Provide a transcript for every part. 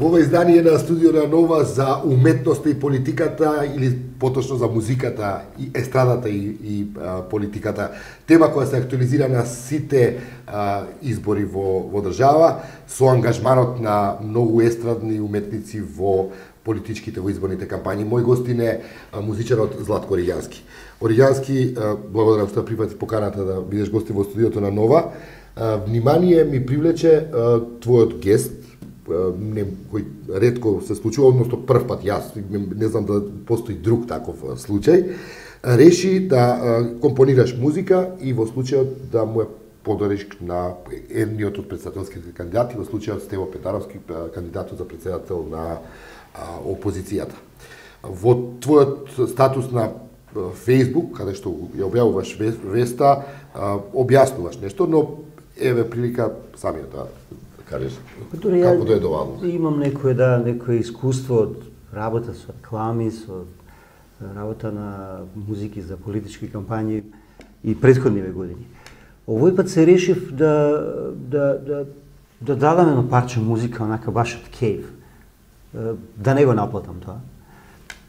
Во ова издание на Студио на Нова за уметноста и политиката, или поточно за музиката и естрадата и политиката, тема која се актуализира на сите избори во држава, со ангажманот на многу естрадни уметници во политичките во изборните кампањи. Мој гостин е музичарот Златко Ориѓански. Ориѓански, благодарам што прифати поканата да бидеш гостин во Студиото на Нова. Внимание ми привлече твојот гест, кој ретко се случува, односно прв пат, јас не знам да постои друг таков случај, реши да компонираш музика и во случајот да му ја подариш на едниот од претседателските кандидати, во случајот Стево Петаровски, кандидатот за претседател на опозицијата. Во твојот статус на Facebook, каде што ја објавуваш веста, објаснуваш нешто, но еве прилика самиот да кажеш како дојде оваму. Имам некое искуство од работа со реклами, со работа на музики за политички кампањи и претходниве години. Овој пат се решив да дадам едно парче музика, онака баш од кејф. Да не го наплатам тоа.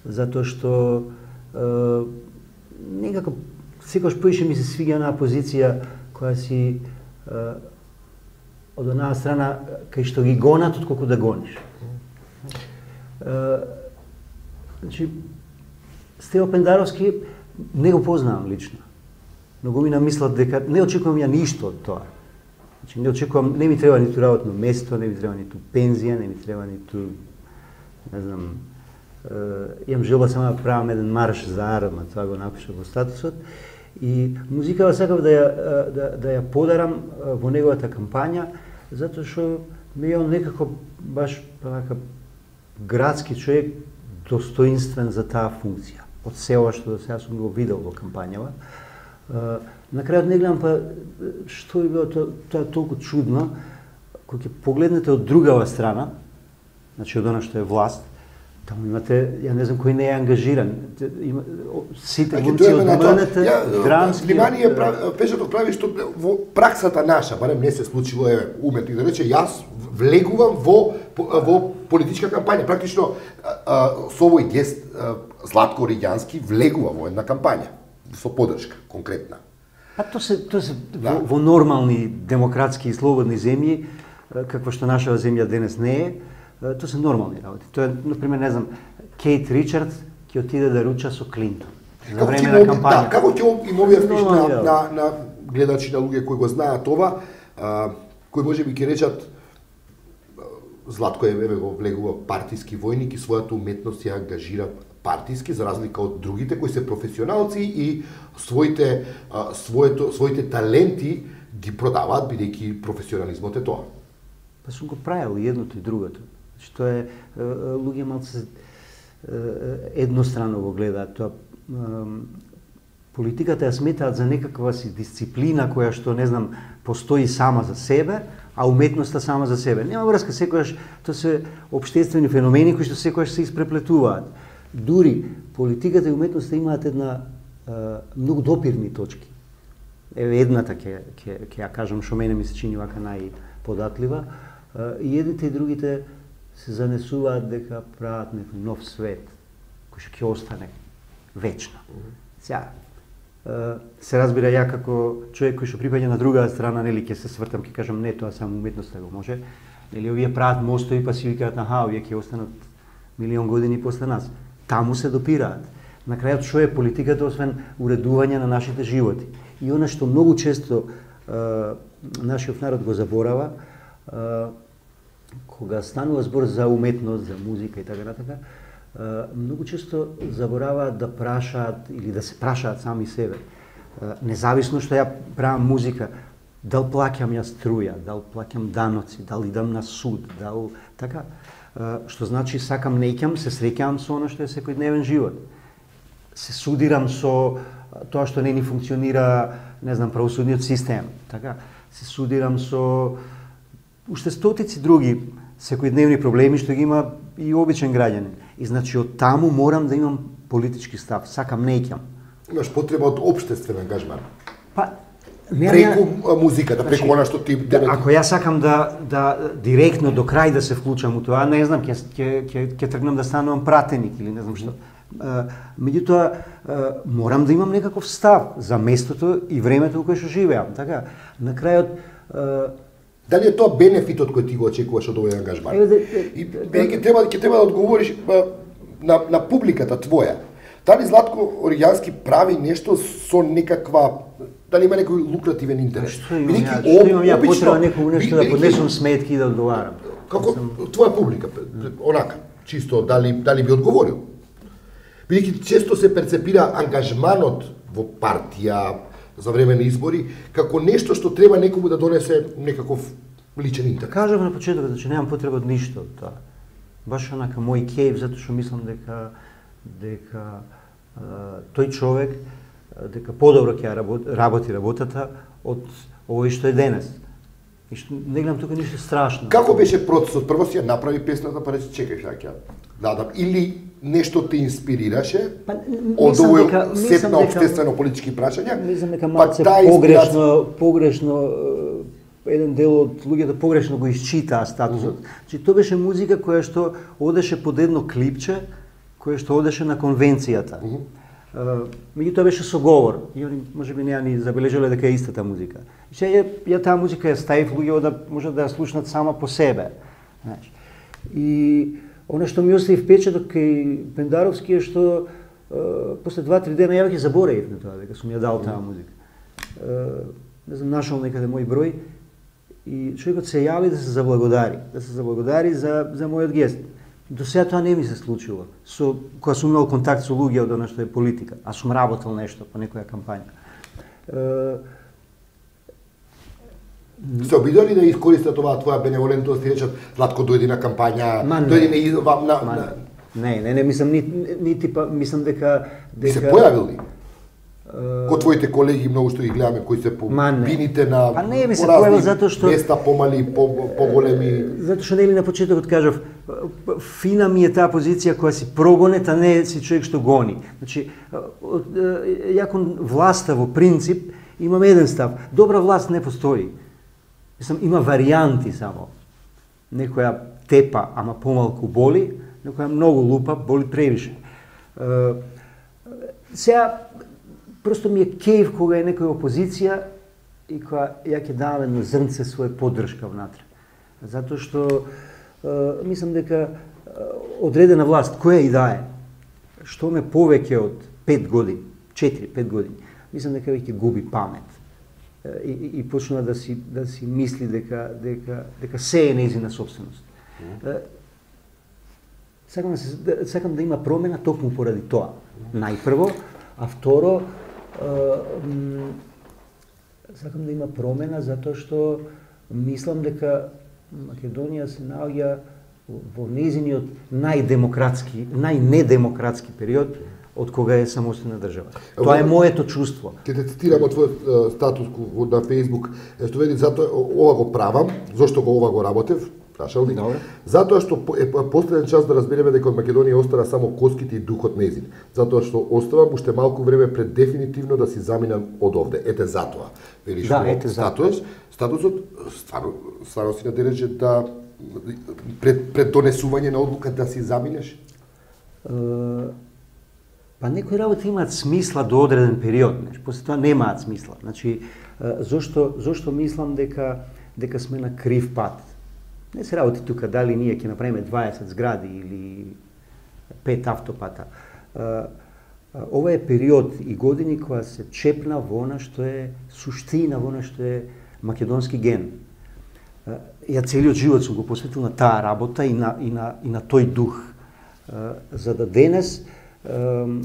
Затоа што некако секогаш поише ми се свиѓа на позиција која си од една страна кај што ги гонат отколку да гониш. Значи, Стево Пендаровски не го познавам лично. Многу ми намислат дека не очекувам ја ништо од тоа. Значи, не очекувам, не ми треба ниту работно место, не ми треба ниту пензија, не ми треба ниту, не знам, имам желба само да правам еден марш за Арма, тоа го напишав во статусот. И музикава сакав да ја подарам во неговата кампања, затоа што ми е он некако баш така градски човек, достоинствен за таа функција. Од се ова што до сега сум го видел во кампањава. На крајот не гледам па што е било тоа толку чудно, кога ќе погледнете од другава страна, значи од она што е власт, таму имате, ја не знам кој не е ангажиран. Сите глумци од МНТ, драмски... Внимание, Пешето прави што во праксата наша, барем не се случило, уметник да рече, јас влегувам во политичка кампања. Практично, со овој гест, Златко Ориѓански, влегува во една кампања, со подршка, конкретна. А тоа се во нормални демократски и слободни земји, каква што нашава земја денес не е, тоа се нормални работи. Тоа е, например, не знам, Кейт Ричардс ќе отиде да руча со Клинтон за време на кампања. Како ќе им објасниш на гледачи, на луѓе кои го знаат ова, кои може би ќе речат Златко го влегува партиски војник и својата уметност ја ангажира партиски, за разлика од другите кои се професионалци и своите таленти ги продаваат бидејќи професионализмот е тоа. Па сум го правил и едното и другото. Што е, луѓе малце еднострано го гледаат тоа. Политиката ја сметаат за некаква си дисциплина која што, не знам, постои сама за себе, а уметноста сама за себе. Нема врска, секојаш тоа се општествени феномени кои што секојаш се испреплетуваат. Дури политиката и уметноста имаат една многу допирни точки. Еве едната ќе ја кажам што мене ми се чини вака најподатлива. И едните и другите се занесуваат дека прават некој нов свет кој што ќе остане вечно. Сега се разбира, ја како човек кој што припаѓа на другата страна, нели ќе се свртам, ќе кажам не, тоа само уметноста го може. Нели овие прават мостови па си викаат аха, овие ќе останат милион години после нас. Таму се допираат. На крајот што е политиката освен уредување на нашите животи. И она што многу често нашиот народ го заборава, кога станува збор за уметност, за музика и така натака, многу често забораваат да прашаат или да се прашаат сами себе. Независно што ја правам музика, дал плаќам ја струја, дал плаќам даноци, дал идам на суд, дал така, што значи сакам неќам, се среќавам со она што е секојдневен живот. Се судирам со тоа што не ни функционира, не знам, правосудниот систем, така, се судирам со уште стотици други секојдневни проблеми што ги има и обичен граѓанин. И значи од таму морам да имам политички став, сакам неќам. Имаш потреба од општествен ангажман. Па, преку музиката, преку она што ти... Ако јас сакам да директно до крај да се вклучам у тоа, не знам, ќе тргнам да станувам пратеник или не знам што. Меѓутоа, морам да имам некаков став за местото и времето во кое што живеам. Така, на крајот... Дали е тоа бенефитот кој ти го очекуваш од овој ангажман? И ќе треба да одговориш на публиката твоја. Дали Златко Оригјански прави нешто со некаква, дали има некој лукративен интерес? Што имам ја потреба некој нешто да поднесам сметки и да одговарам? Како твоја публика, онака, чисто дали би одговорил? Бидејќи често се перцепира ангажманот во партија за време на избори како нешто што треба некому да донесе некаков личен интерес. Кажав на почетокот, значи немам потреба од ништо од тоа. Баш онака мој кејф, затоа што мислам дека тој човек дека подобро ќе работи работата од овој што е денес. И што не гледам тука ништо страшно. Како беше процесот? Прво си ја направи песната, па рече чекај ќе дадам, или нешто те инспирираше од овој сет на општествено-политички прашања? Мислам дека малце погрешно еден дел од луѓето погрешно го исчитаа статусот. Значи тоа беше музика која што одеше под едно клипче, која што одеше на конвенцијата. Меѓутоа беше со говор. И они можеби не ја ни забележале дека е истата музика. И сега ја таа музика ја ставив луѓето да можат да ја слушнат сама по себе. Значи, и она што ми остави впечаток кај Пендаровски е што после 2-3 дена ја веќе заборавив на тоа дека сум ја дал таа музика. Не знам, нашол некаде мој број и човекот се јави да се заблагодари за мојот гест. До сега тоа не ми се случило. Кога сум имал контакт со луѓе од она што е политика, а сум работел нешто по некоја кампања. Се обидели да искористат оваа твоја беневолентност и речат Златко дојди на кампања, дојди на... Не, мислам дека... се појавил ли? Ко твоите колеги, многу што ги гледаме, кои се по бините на поразни места, помали, поголеми... Затоа што нели на почетокот кажав, фина ми е таа позиција која си прогонет, а не си човек што гони. Значи, ја кон власта во принцип имам еден став. Добра власт не постои. Мислам, има варијанти само. Некоја тепа, ама помалку боли, некоја многу лупа, боли превише. Сега, просто ми е кејф кога е некоја опозиција и кога ја ќе давам едно зрнце своја поддршка внатре. Затоа што мислам дека одредена власт, која и да е, што ме повеќе од 5 години, 4-5 години, мислам дека веќе губи памет. И почнува да си мисли дека се е нејзина собственост. Сакам да има промена токму поради тоа. Најпрво, а второ, сакам да има промена затоа што мислам дека Македонија се наоѓа во нејзиниот најнедемократски период од кога е самостојна држава. Тоа е моето чувство. Ќе те цитирам од твојот статус на Facebook, што вели затоа ова го правам, зошто ова го работев, прашал ли? Затоа што е последен час да разбереме дека од Македонија остана само коските и духот нејзин. Затоа што оставам уште малку време пред дефинитивно да си заминам од овде. Ете затоа. Велиш статусот стварно си надележи да пред донесување на одлука да си заминеш? Па некои работи имаат смисла до одреден период, после тоа немаат смисла. Значи, зошто мислам дека сме на крив пат? Не се работи тука дали ние ќе направиме 20 згради или 5 автопата. Ова е период и години која се чепна во она што е суштина, во она што е македонски ген. Ја целиот живот сум го посветил на таа работа и на тој дух. За да денес ќе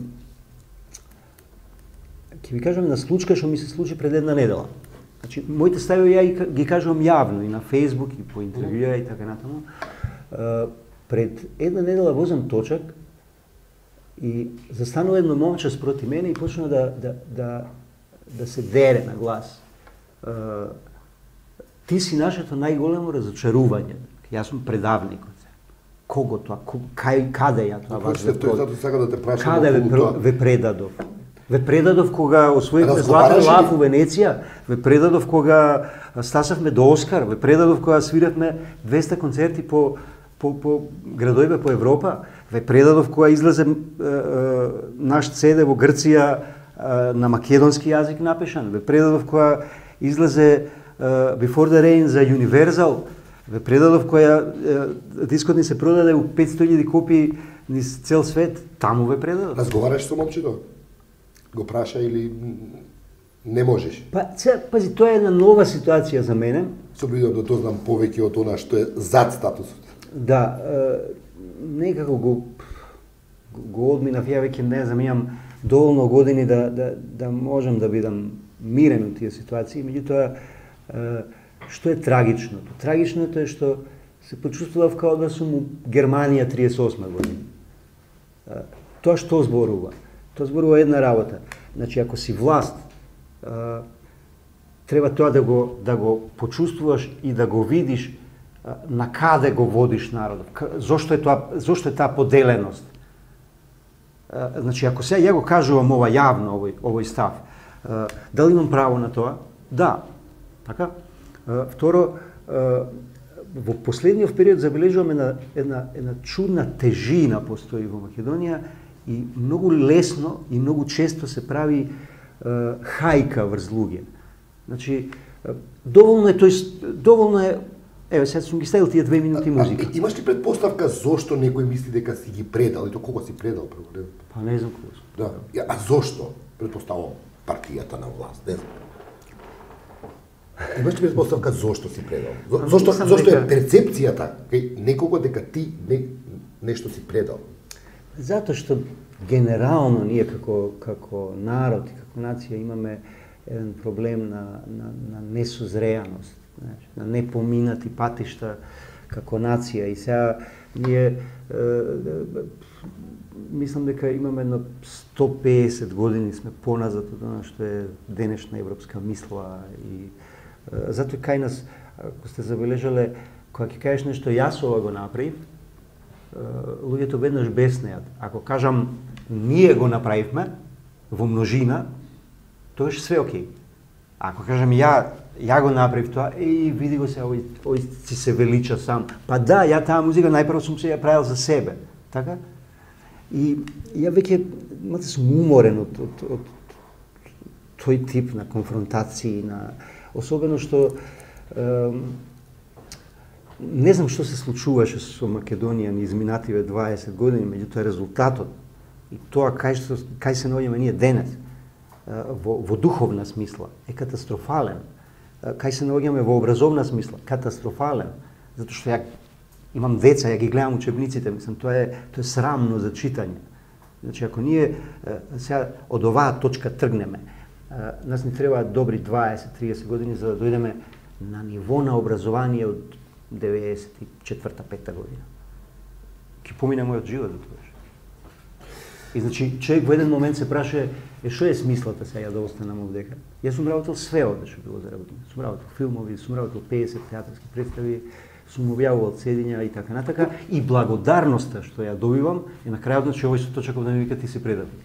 ви кажам на случка што ми се случи пред една недела. Значи, моите стави ја ги кажувам јавно и на Facebook и по интервјуа и така натаму. Пред една недела возам точак и застанува едно момче спроти мене и почна да се дере на глас. Ти си нашето најголемо разочарување. Јас сум предавникот. Кого тоа? Каде ја тоа вас ве предадов? Каде ве предадов? Ве предадов кога освоивме Златен лав у Венеција, ве предадов кога стасавме до Оскар, ве предадов кога свиравме 200 концерти по градовите по Европа, ве предадов кога излезе наш CD во Грција на македонски јазик напишан, ве предадов кога излезе Before the Rain за Universal, ве предадов кога дискот ни се продаде у 500.000 копии низ цел свет, таму ве предадов. Разговараш со момчето? Го праша или не можеш? Пази, тоа е една нова ситуација за мене. Се обидам да дознам повеќе од она што е зад статусот. Да, некако го одминав, ја веќе не знам, имам доволно години да можам да бидам мирен у тие ситуации, меѓутоа што е трагичното? Трагичното е што се почувствував као да сум у Германија 38 година. Тоа што зборува? Тоа зборува една работа. Значи, ако си власт, треба тоа да го почувствуваш и да го видиш на каде го водиш народот. Зошто е таа поделеност? Значи, ако сега ја го кажувам ова јавно, овој став, дали имам право на тоа? Да. Така? Второ, во последниот период забележуваме една чудна тежина постои во Македонија и многу лесно и многу често се прави хајка врз луѓе. Значи, доволно е, еве сега сум ги ставил тие 2 минути музика. Имаш ли предпоставка зошто некој мисли дека си ги предал и то кого си предал? Па не знам кого сум. Да. А зошто? Предпоставам партијата на власт, не знам. Имаш ли предпоставка зошто си предал? Зошто е перцепцијата кај некого дека ти нешто си предал? Затоа што генерално ние како народ и како нација имаме еден проблем на несозреаност, на непоминати патишта како нација и сега ние мислам дека имаме едно 150 години сме поназад од она што е денешна европска мисла и затоа кај нас, ако сте забележале, кога ќе кажеш нешто јас ова го направив, луѓето веднаш беснеат. Ако кажам ние го направивме во множина, тоа е све окей. Ако кажам ја го направив тоа, види го се, овој си се велича сам. Па да, ја таа музика најпрво сум се ја правил за себе, така? И ја веќе сум уморен од тој тип на конфронтации, особено што не знам што се случуваше со Македонија низ изминативе 20 години, меѓутоа резултатот и тоа кај се наоѓаме ние денес во духовна смисла е катастрофален. Кај се наоѓаме во образовна смисла катастрофален, затоа што ја имам деца, ја ги гледам учебниците, мислам тоа е срамно за читање. Значи ако ние сега од оваа точка тргнеме, нас ни требаат добри 20-30 години за да дојдеме на ниво на образование од 94-5 година. Ке помине мојот живот за тоа. И значи човек во еден момент се праша што е смислата сега да останам овдека. Јас сум работел све овде што било за работа. Сум работел филмови, сум работел 50 театарски представи, сум објавувал седиња и така натака и благодарноста што ја добивам е на крајот, значи овој што чекав да ми вика ти си предавник.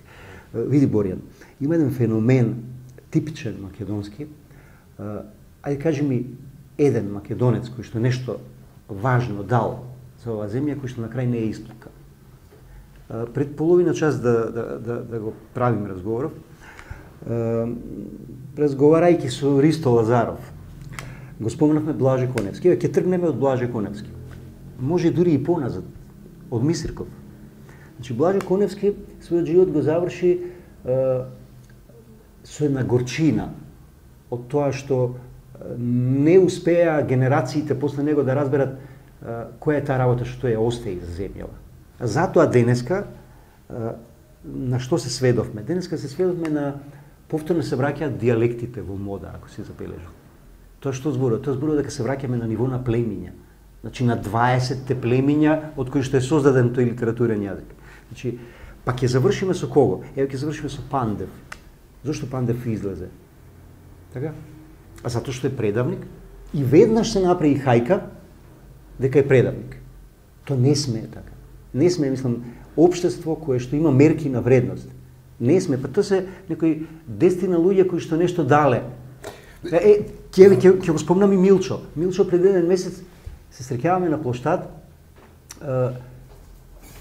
Види Боријан, има еден феномен типичен македонски. Ајде кажи ми еден македонец кој што нешто важно дал за оваа земја, кој што на крај не е истука. Пред половина час да го правим разговоров, разговарајќи со Ристо Лазаров, го спомнавме Блаже Коневски. Ќе тргнеме од Блаже Коневски. Може дури и поназад, од Мисирков. Значи, Блаже Коневски својот живот го заврши со една горчина од тоа што не успеа генерациите после него да разберат која е таа работа што ја остави за земјава. Затоа денеска, на што се сведовме? Денеска се сведовме на повторно се враќаат диалектите во мода, ако си забележал. Тоа што зборува? Тоа зборува дека се враќаме на ниво на племиња. Значи на 20-те племиња од кои што е создаден тој литературен јазик. Значи, па ќе завршиме со кого? Еве ќе завршиме со Пандев. Зошто Пандев излезе? Така? А затоа што е предавник и веднаш се направи хајка дека е предавник. Тоа не смее така. Не смее, мислам, општество кое што има мерки на вредност. Не сме, па тоа се некои 10 луѓе кои што нешто дале. Ќе го спомнам и Милчо. Милчо пред еден месец се среќаваме на плоштад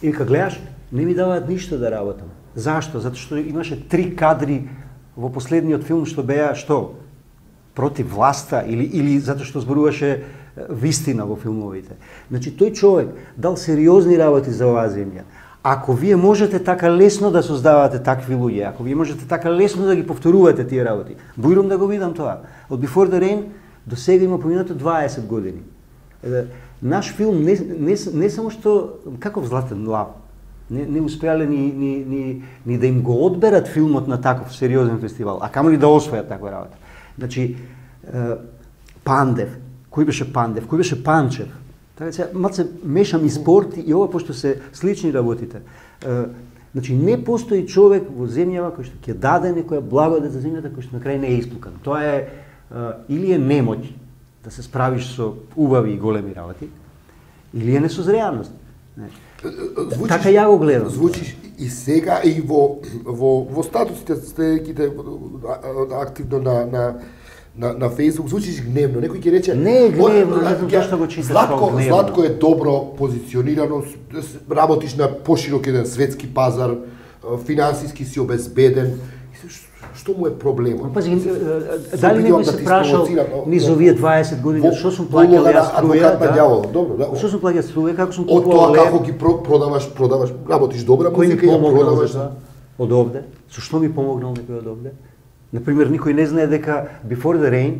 и кога гледаш, не ми даваат ништо да работам. Зашто? Затоа што имаше 3 кадри во последниот филм што беа што? Против власта или затоа што зборуваше вистина во филмовите. Значи тој човек дал сериозни работи за оваа земја. Ако вие можете така лесно да создавате такви луѓе, ако вие можете така лесно да ги повторувате тие работи, бујрум да го видам тоа. Од Before the Rain до сега има поминато 20 години. Наш филм не само што каков Златен лав, не успеале ни да им го одберат филмот на таков сериозен фестивал, а камо ли да освојат таква работа. Значи Пандев, кој беше Пандев, кој беше Панчев. Така се малце мешам и спорт и ова пошто се слични работите. Значи не постои човек во земјава кој што ќе даде некоја благодат за земјата кој што на крај не е исплукан. Тоа е или е немоќ да се справиш со убави и големи работи, или е несозреаност. Така ја го гледам. Звучиш и сега и во статусите стеките активно на Facebook, звучиш гневно. Некој ќе рече не е гневно, не знам зашто го читаш како гневно. Златко е добро позиционирано, работиш на поширок еден светски пазар, финансиски си обезбеден. Што му е проблемот? Пази, дали некој се прашал низ овие 20 години што сум плаќал јас струја? Добро, да. Што сум плаќал струја, како сум од тоа како ги продаваш, работиш добра музика и ја продаваш. Од овде? Со што ми помогнал некој од овде? Например, никој не знае дека Before the Rain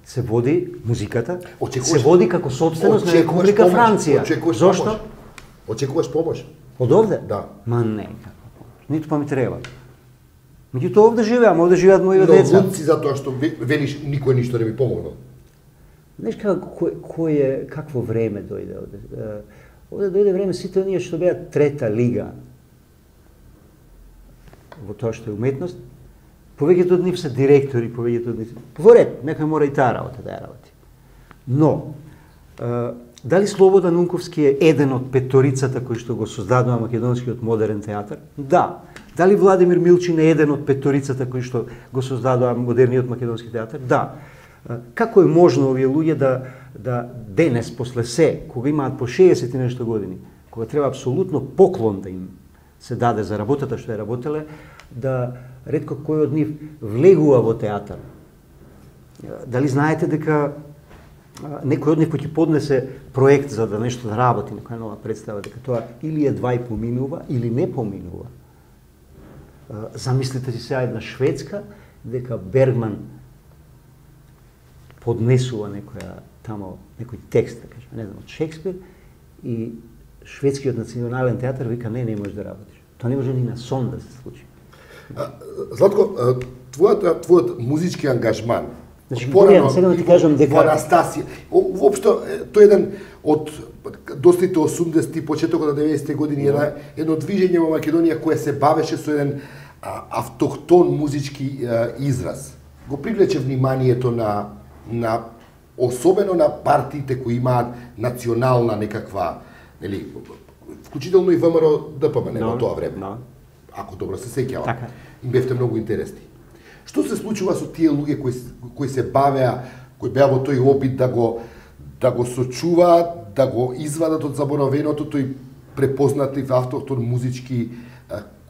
се води музиката, се води како собственост на Република Франција. Зошто? Очекуваш помош. Од овде? Да. Ма не, ниту па ми треба. Меѓутоа овде живеам, овде живеат мои деца. Но луци затоа што велиш никој ништо не ми помогнал. Знаеш какво време дојде овде? Овде дојде време сите оние што беа трета лига во тоа што е уметност. Повеќето од нив се директори, повеќето од нив. Во ред, некој мора и таа работа да ја работи. Но дали Слободан Унковски е еден од петорицата кои што го создадува македонскиот модерен театар? Да. Дали Владимир Милчин е еден од петорицата кои што го создадува модерниот македонски театар? Да. Како е можно овие луѓе да денес, после се, кога имаат по 60 и нешто години, кога треба апсолутно поклон да им се даде за работата што ја работеле, да ретко кој од нив влегува во театар? Дали знаете дека некој од нив кој ќе поднесе проект за да нешто да работи, некоја нова представа, дека тоа или едва и поминува, или не поминува? Замислите си сега една шведска, дека Бергман поднесува некој текст, да кажем, не знам, од Шекспир, и шведскиот национален театар вика не можеш да работиш. Тоа не може ни на сон да се случи. Златко, твојот музички ангажман, значи, сега да ти кажам дека во Анастасија, воопшто тој еден од достите 80-ти, почетокот на 90-ти години, едно движење во Македонија кое се бавеше со еден автохтон музички израз. Го привлече вниманието на особено на партиите кои имаат национална некаква, нели, вклучително и ВМРО ДПМН во тоа време. Ако добро се сеќавам. Така. Им бевте многу интересни. Што се случува со тие луѓе кои се бавеа, кои беа во тој обид да го сочуваат, да го извадат од заборавеното тој препознатив автохтон музички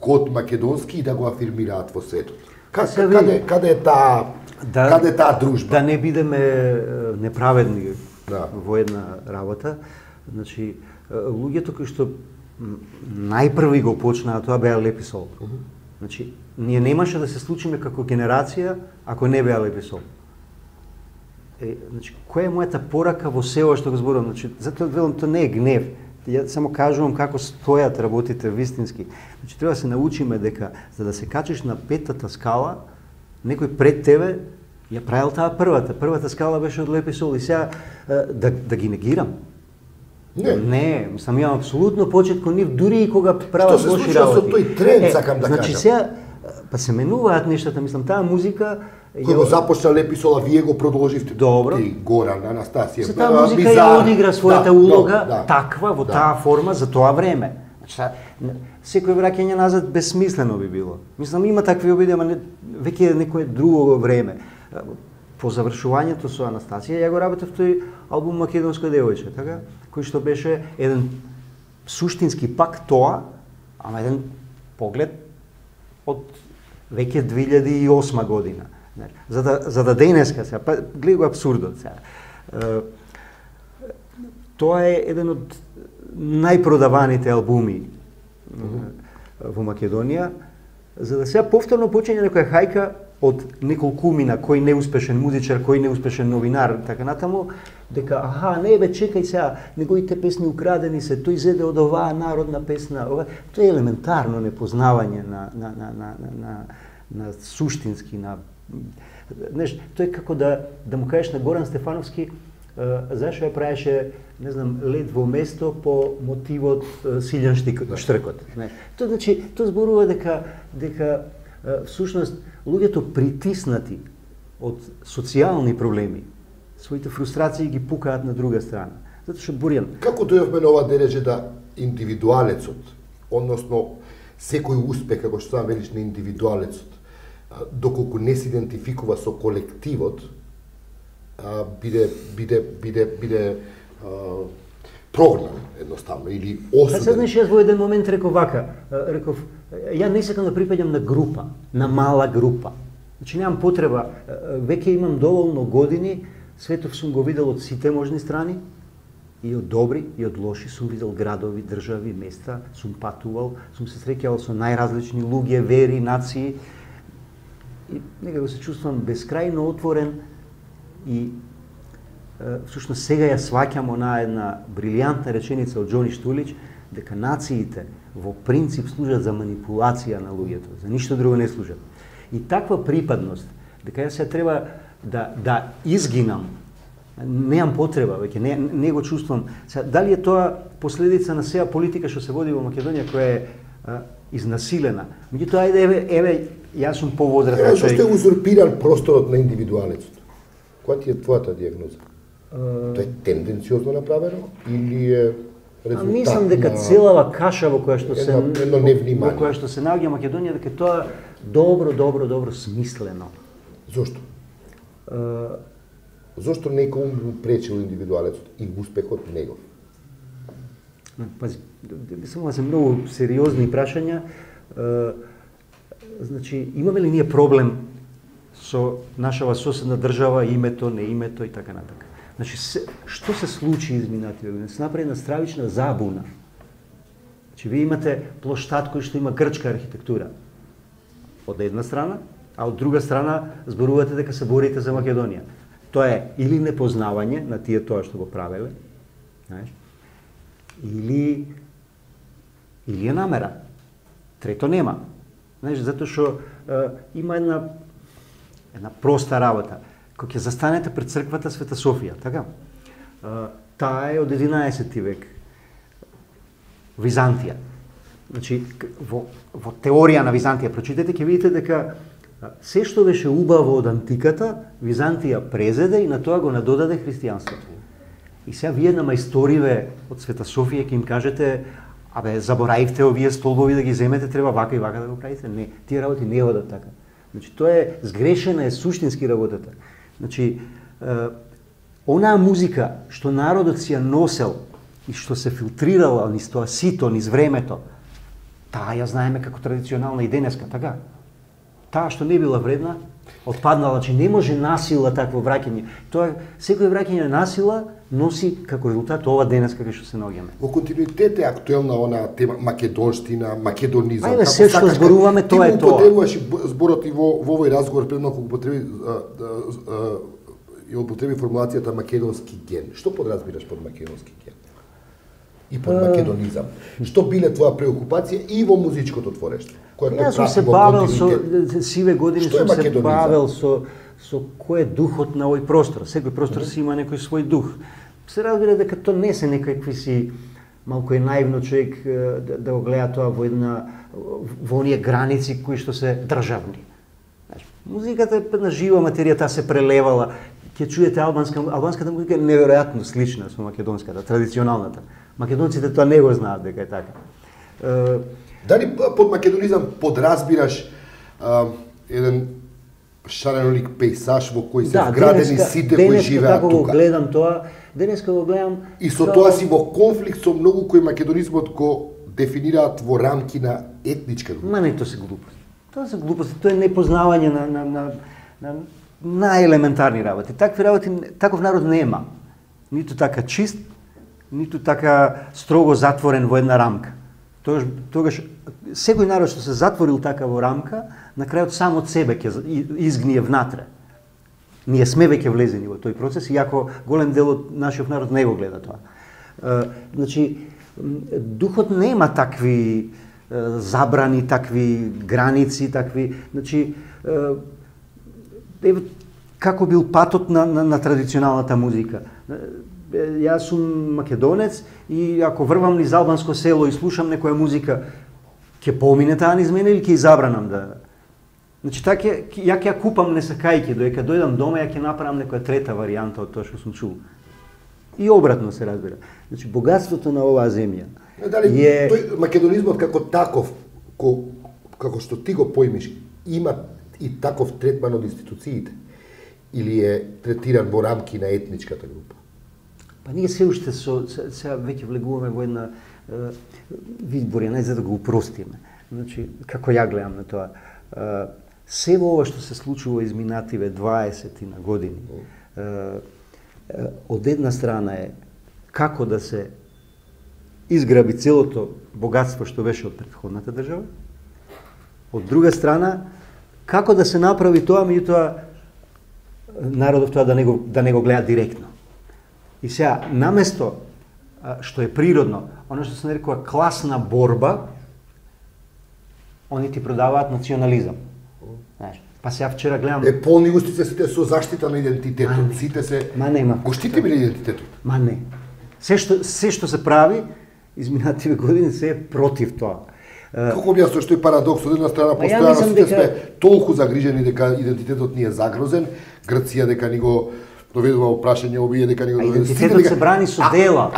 код македонски и да го афирмираат во светот? Каде е таа дружба? Да не бидеме неправедни во една работа. Значи, луѓето кои што најпрви го почнаа тоа беа Лепи Сол. Значи, ние немаше да се случиме како генерација ако не беа Лепи Сол. Значи, која е мојата порака во се ова што го зборувам? Значи, затоа велам, тоа не е гнев. Ја само кажувам како стојат работите вистински. Значи, треба да се научиме дека за да се качиш на петата скала, некој пред тебе ја правил таа првата. Првата скала беше од Лепи Сол и сега да ги негирам. Не, сам имам апсолутно почет кон нив, дури и кога прават лоши работи. Што се случува со тој тренд, сакам да кажам? Значи сега, па се менуваат нештата, мислам, таа музика... Кој го започна Лепи Сол, а вие го продолживте. Добро. Ти, Горан, Анастасија. Таа музика ја одигра својата улога таква, во таа форма, за тоа време. Секој враќање назад безсмислено би било. Мислам, има такви обиди, ама веќе е некое друго време. По завршувањето со Анастасија, ја го работев тој албум Македонско девојче, така? Кој што беше еден суштински пак тоа, ама еден поглед од веќе 2008 година. За да денеска сега, па гледај го абсурдот сега. Тоа е еден од најпродаваните албуми во Македонија, за да сега повторно почине некоја хајка од неколкумина, кој неуспешен музичар, кој неуспешен новинар, така натаму, дека, не бе, чекај сега, неговите песни украдени се, тој зеде од оваа народна песна, тоа е елементарно непознавање на суштински, тоа е како да му кажеш на Горан Стефановски, зашо ја правеше, не знам, Лед во место по мотивот Силјан Штркот. Тоа значи, тоа зборува дека всушност луѓето притиснати од социјални проблеми, своите фрустрации ги пукаат на друга страна. Затоа што Бурјан... Како дојавме на ова дереже да индивидуалецот, односно секој успех, како што сам велиш на индивидуалецот, доколку не се идентификува со колективот, биде прогнан едноставно или осуден. Сега знаеш, јас во еден момент реков вака, ја не сакам да припаѓам на група, на мала група. Значи немам потреба, веќе имам доволно години, светот сум го видел од сите можни страни, и од добри, и од лоши, сум видел градови, држави, места, сум патувал, сум се среќавал со најразлични луѓе, вери, нации, и некако се чувствувам бескрајно отворен и всушност сега ја сваќам онаа една брилјантна реченица од Џони Штулич, дека нациите во принцип служат за манипулација на луѓето, за ништо друго не служат. И таква припадност, дека јас се треба да изгинам, немам потреба, веќе не го чувствувам. Дали е тоа последица на сеа политика што се води во Македонија, која е изнасилена? Меѓутоа, еве, јас сум повозрастен човек. Зашто е узурпиран просторот на индивидуалецот? Која ти е твојата дијагноза? Тоа е тенденциозно направено или е резултат на... Мислам дека целава каша во која што се невнимание. Во која што се наоѓа Македонија, дека тоа добро смислено. Зошто? Зошто некој му пречил индивидуалецот и успехот негов? Пази, само се многу сериозни прашања. Значи, имаме ли ние проблем со нашава соседна држава, името, не името и така натака? Значи, што се случи изминативе години? Се направи една стравична забуна. Значи, вие имате плоштад кој што има грчка архитектура од една страна, а од друга страна зборувате дека се борите за Македонија. Тоа е или непознавање на тие тоа што го правеле, знаеш, или е намера. Трето нема. Знаеш, затоа што има една проста работа. Кога ќе застанете пред црквата Света Софија, така? Таа е од 11 век. Византија. Значи, во теорија на Византија прочитате, ќе видите дека се што беше убаво од антиката, Византија презеде и на тоа го надодаде христијанството. И сега вие на мајсториве од Света Софија ќе им кажете, заборавивте овие столбови да ги земете, треба вака и вака да го правите. Не, тие работи не одат така. Значи, тоа е сгрешена, е суштински работата. Значи, онаа музика што народот си ја носел и што се филтрирала низ тоа сито, низ времето, таа ја знаеме како традиционална и денеска, така? Таа што не била вредна, отпаднала, че не може насила такво враќање. Тоа, секој враќање на насила носи како резултат ова денес кај што се наоѓаме. Во континуитет е актуелна она тема македонштина, македонизам. Ајде, се што зборуваме, тоа е тоа. Ти употребуваш зборот и во овој разговор пред малку употреби формулацијата македонски ген. Што подразбираш под македонски ген? И под македонизам. Што биле твоја преокупација и во музичкото творештво? Јас сум се бавел со сиве години, сум се бавел со кој е духот на овој простор. Секој простор си има некој свој дух. Се разбира дека тоа не се некакви си малку е наивно човек да го гледа тоа во оние граници кои што се државни. Музиката е една жива материја, таа се прелевала. Ќе чуете албанската музика е неверојатно слична со македонската, традиционалната. Македонците тоа не го знаат дека е така. Дали под македонизам подразбираш еден шаренолик пейсаж во кој се вградени сите кои живеат тука? Денеска гледам тоа, денеска го гледам... И со тоа си во конфликт со многу кои македонизмот го дефинираат во рамки на етничка група. Ма не, тоа се глупости. Тоа се глупости, тоа е непознавање на најелементарни работи. Такви работи, таков народ нема. Ниту така чист, ниту така строго затворен во една рамка. Тогаш секој народ што се затворил така во рамка, на крајот сам од себе ќе изгние внатре. Ние сме веќе влезени во тој процес, иако голем дел од нашиот народ не го гледа тоа. Значи, духот нема такви забрани, такви граници, такви, значи, како бил патот на традиционалната музика. Јас сум македонец и ако врвам низ албанско село и слушам некоја музика, ќе помине таа низ мене или ќе забранам да... Значи, така, ја ќе ја купам не сакајќи, додека дојдам дома, ја ќе направам некоја трета варијанта од тоа што сум чул. И обратно се разбира. Значи, богатството на оваа земја е... Тој македонизмот како таков, како што ти го поимиш, има и таков третман од институциите? Или е третиран во рамки на етничката група? Па ние се уште сега веќе влегуваме во една видбор, не за да го упростиме. Значи, како ја гледам на тоа, се во ова што се случува изминативе 20 на години, од една страна е како да се изграби целото богатство што беше од претходната држава, од друга страна како да се направи тоа, меѓутоа народот тоа да не го гледа директно. И сега, наместо што е природно, оно што се нарекува класна борба, они ти продаваат национализам. Знаеш, па сега вчера гледам... Полни усти се сите со заштита на идентитетот. Сите се... Ма нема. Го штитиме ли идентитетот? Ма не. Се што се прави, изминативе години се е против тоа. Како објаснуваш тој парадокс? Од една страна постојано сите сме толку загрижени дека идентитетот ни е загрозен, Грција дека ни го доведува во прашање, овие дека ни го доведува. Идентитетот се брани со дела.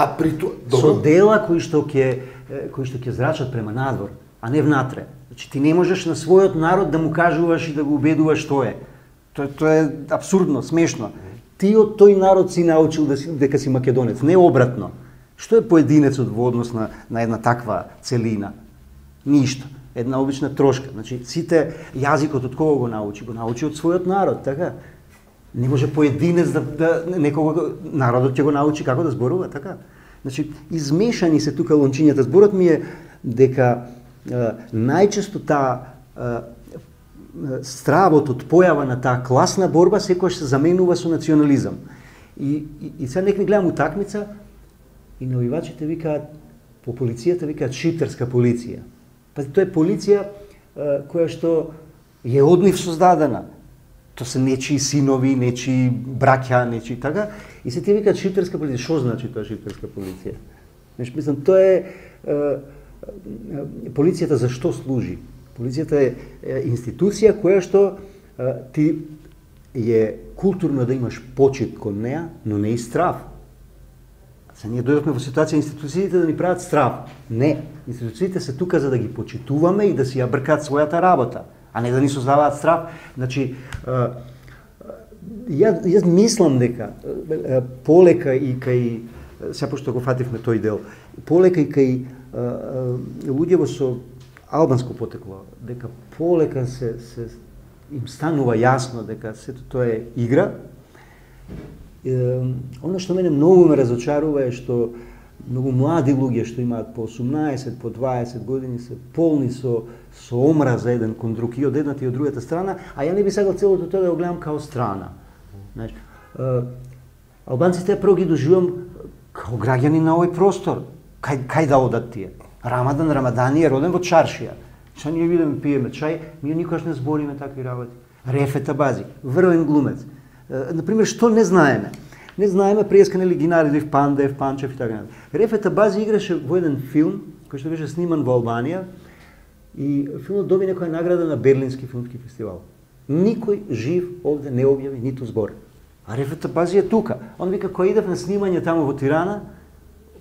Со дела кои што ќе зрачат према надвор, а не внатре. Значи ти не можеш на својот народ да му кажуваш и да го убедуваш што е. Тоа е апсурдно, смешно. Ти од тој народ си научил дека си македонец, не обратно. Што е поединецот во однос на една таква целина? Ништо. Една обична трошка. Значи сите јазикот од кого го научи? Го научи од својот народ, така? Не може поединец да некого народот ќе го научи како да зборува, така? Значи измешани се тука лончињата. Зборот ми е дека најчесто таа стравот од појава на таа класна борба секогаш се заменува со национализам. И сега некој гледам утакмица и навивачите викаат, по полицијата викаат шиптерска полиција. Па тоа е полиција која што е од нив создадена. Тоа се нечии синови, нечии браќа, нечии така. И се ти викаат шиптерска полиција. Што значи тоа шиптерска полиција? Мислам, тоа е полицијата за што служи? Полицијата е институција која што ти е културно да имаш почит кон неа, но не и страв. Се ние дојдовме во ситуација институциите да ни прават страв. Не, институциите се тука за да ги почитуваме и да си ја бркаат својата работа, а не да ни создаваат страв. Значи, јас мислам дека полека и кај, сега пошто го фативме тој дел, полека и кај луѓево со албанско потекло, дека полека се им станува јасно дека сето тоа е игра. Оно што мене многу ме разочарува е што многу млади луѓе што имаат по 18, по 20 години се полни со омраза еден кон друг и од едната и од другата страна, а ја не би сакал целото тоа да го гледам као страна. Знаеш, албанците прво ги доживам као граѓани на овој простор. Кај да одат тие? Рамадан е роден во Чаршија. Што ние видиме пиеме чај, ние никогаш не збориме такви работи. Рефет Абази, врвен глумец. Например, што не знаеме? Не знаеме преска нели Гинаридов, Пандев, Панчев и така натаму. Рефет Абази играше во еден филм кој што беше сниман во Албанија и филмот доби некоја награда на Берлински филмски фестивал. Никој жив овде не објави ниту збор. А Рефет Абази е тука. Он вика, кој идев на снимање таму во Тирана,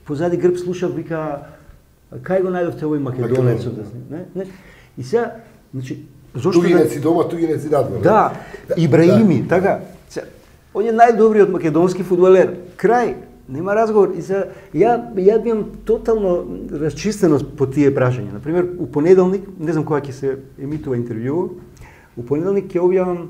позади грб слушав, вика, Кај го најдовте овој македонецот? Не? И сега, значи, зошто тугинеци дома, тугинеци надвор. Да, Ибраими, така. Он е најдобриот македонски фудбалер. Крај, нема разговор. И сега, ја бивам тотално расчистено по тие прашања. Например, у понеделник, не знам кога ќе се емитува интервју, у понеделник ќе објавам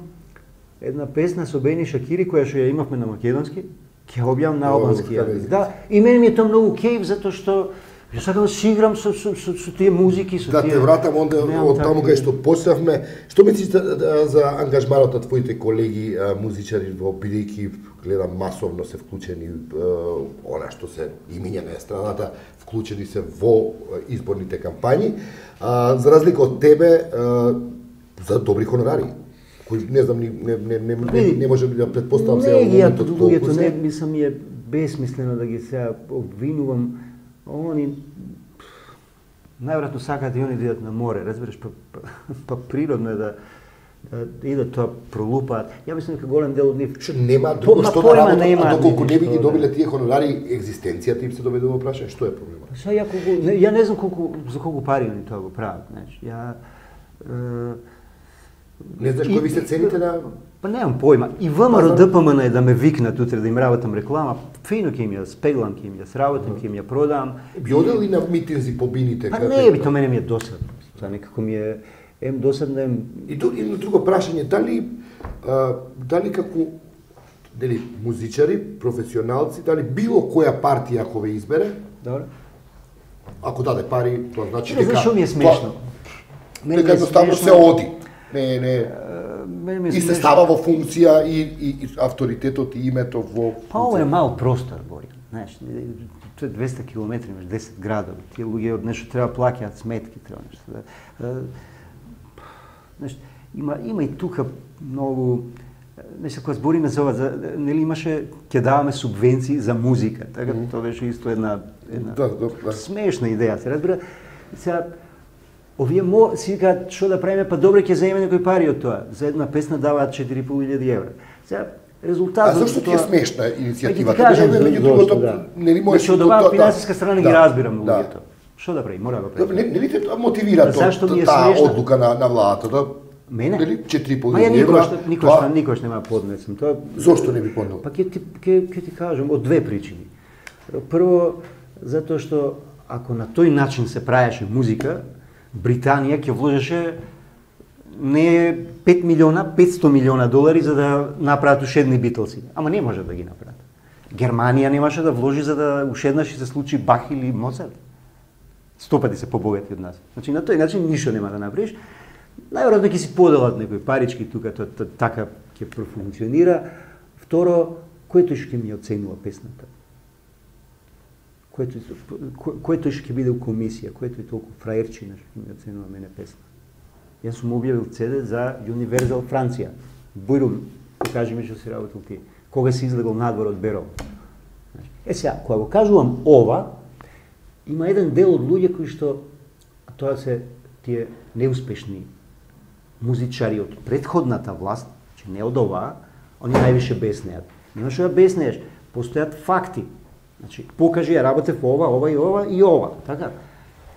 една песна со Бени Шакири, која што ја имавме на македонски, ќе објавам на албански јазик. Да, и мене ми е тоа многу кејф, затоа што ја сакам да си играм со тие музики, со тие... Да, те вратам онда од таму кај што почнавме. Што мислиш за ангажманот на твоите колеги музичари во бидејќи гледам масовно се вклучени она што се имиња на естрадата, вклучени се во изборните кампањи, за разлика од тебе за добри хонорари. Кој не знам не може да претпоставам сега моментот луѓето не мислам е бесмислено да ги сега обвинувам. Они најверојатно сакаат и они да идат на море, разбираш, па природно е да идат тоа пролупаат. Ја мислам дека голем дел од нив што нема друго што да работат, доколку не би ги добиле тие хонорари, екзистенцијата им се доведува во прашање, што е проблемот? Ја не знам за колку пари они тоа го прават, знаеш. Не знаеш кој ви се цените на... Па немам појма. И ВМРО ДПМН е да ме викнат утре да им работам реклама, фино ќе им ја спеглам, ќе им ја сработам, ќе им ја продам. Би одел ли на митинзи по бините? Па не, би, тоа мене ми е досадно. Тоа некако ми е досадно, И на друго прашање, дали како музичари, професионалци, дали било која партија ако ве избере, добро, ако даде пари, тоа значи дека... Зашо ми е смешно? Дека едноставно се оди. И се става во функција и авторитетот и името во... Па ово е мал простор, Бори. Знаеш, тоа е 200 километри, имаш 10 градови. Тие луѓе од нешто треба плаќаат сметки, треба нешто. Знаеш, има и тука многу... Нешто кога збориме за ова, нели имаше, ќе даваме субвенции за музика, така тоа беше исто една смешна идеја, се разбира. Сега, овие си кажат што да правиме, па добре ќе земеме некои пари од тоа. За една песна даваат 4.500 евра. Сега резултатот... А зашто ти е смешна иницијативата? Кажам меѓу другото, значи од оваа финансиска страна ги разбирам луѓето. Што да прави? Мора да прави. Нели те мотивира таа одлука на владата? Мене? 4.500 евра? Никош нема поднесам тоа. Зошто не би поднел? Па ќе ти кажам од две причини. Прво, затоа што ако на тој начин се правеше музика, Британија ќе вложеше не 5 милиона, 500 милиона долари за да направат ушедни Битлси. Ама не може да ги направат. Германија немаше да вложи за да ушеднаш и се случи Бах или Моцарт. 100 пати се побогати од нас. Значи на тој начин ништо нема да направиш. Најверојатно ќе си поделат некои парички тука, така ќе профункционира. Второ, кој тој што ќе ми оценува песната? Кој тој што ќе биде у комисија, кој тој толку фраерчина што ќе ми оценува мене песна. Јас сум објавил CD за Universal Франција. Бујрум, кажи ми што си работил ти. Кога си излегол надвор од Берово. Сега, кога го кажувам ова, има еден дел од луѓе кои што, тоа се тие неуспешни музичари од претходната власт, че не од оваа, они највише беснеат. Нема што да беснееш, постојат факти. Значи, покажи ја работев ова и ова, така?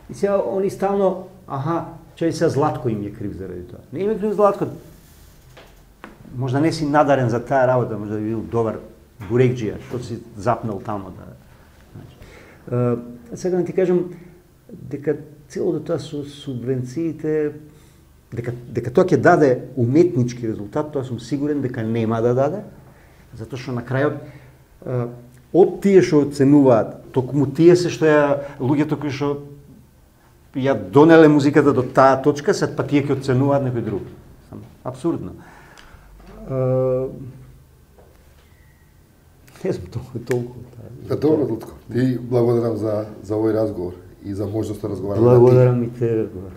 И сега они стално, чај сега Златко им е крив заради тоа. Не им е крив Златко. Можда не си надарен за таа работа, можда би бил добар бурекџија, што си запнал тамо да... Значи, сега да ти кажам дека целото тоа со субвенциите, дека тоа ќе даде уметнички резултат, тоа сум сигурен дека нема да даде, затоа што на крајот од тие што оценуваат, токму тие се што луѓето кои што ја донеле музиката до таа точка, сад па тие ќе оценуваат некој друг. Абсурдно. Не знам толку. Добро, Лутко. Ти благодарам за овој разговор и за можност да разговараме. Благодарам и те разговор.